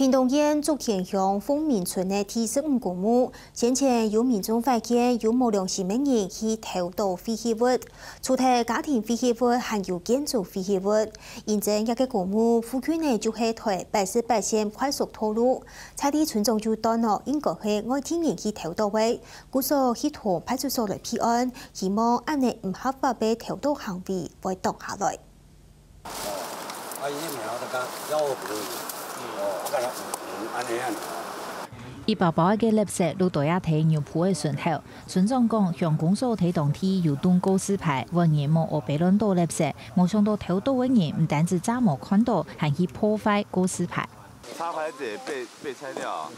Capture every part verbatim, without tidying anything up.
屏東縣竹田鄉鳳鳴村个第十五公墓，先前有民眾發現有無良心个人去偷倒廢棄物，除忒家庭廢棄物，還有建築廢棄物。因為這个公墓附近呢就係臺北市八線快速道路，在地村長就斷定應該係外地人去偷倒个，故所去同派出所來備案，希望恁呢毋合法个偷倒行為會擋下來。 啊，伊苗个，要我不同意。哦，啊，嗯，安尼安尼。一包包个垃圾落到這坯牛埔个脣頭，村長講，鄉公所在當地有棟告示牌，話人莫烏白亂倒垃圾，無想到偷倒个人毋單止詐無看到，還去破壞告示牌。插牌子也被被拆掉啊。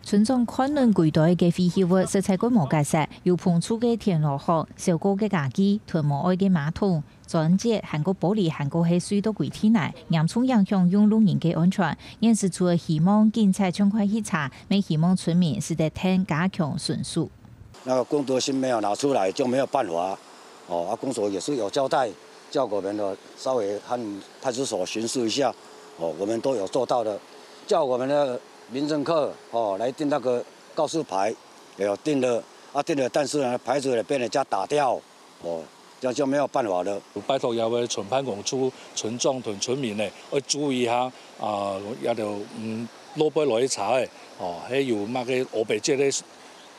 村長看等歸堆个廢棄物，實在蓋無結煞，有膨臭个田螺殼、燒過个家具、吞無愛个馬桶、磚節，還過玻璃，還過係碎到歸地泥，嚴重影響用路人个安全。現時除了希望警察趕快去查，乜希望村民使得跈加強巡守。那個工作性沒有拿出來，就沒有辦法。哦，啊，公所也是有交代，叫我們的稍微和派出所巡視一下。哦，我們都有做到的，叫我們的民政課哦來訂那個告示牌，也有訂了啊，訂了，但是呢，牌子也被人家打掉，哦，這樣就沒有辦法了。拜託這位村辦公處、村長同村民呢，愛注意一下啊，這兜嗯落背落去查个，哦，還有麼个烏白節个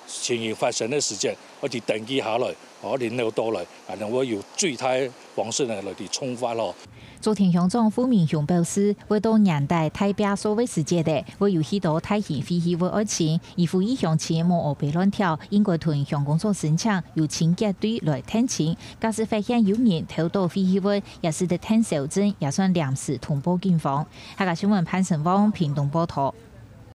情形發生个時節，愛去登記下來，哦，聯絡到來，啊，然後有最大方式呢來去重罰咯。 竹田鄉長傅明雄表示，為到年底大拚掃个時節咧，會有許多大型廢棄物愛清，佢呼籲鄉親莫烏白亂丟，應該同鄉公所申請，由清潔隊來跈清。假使發現有人偷倒廢棄物，也使得跈收證，也算臨時通報警方。客家新聞潘成旺屏東報導。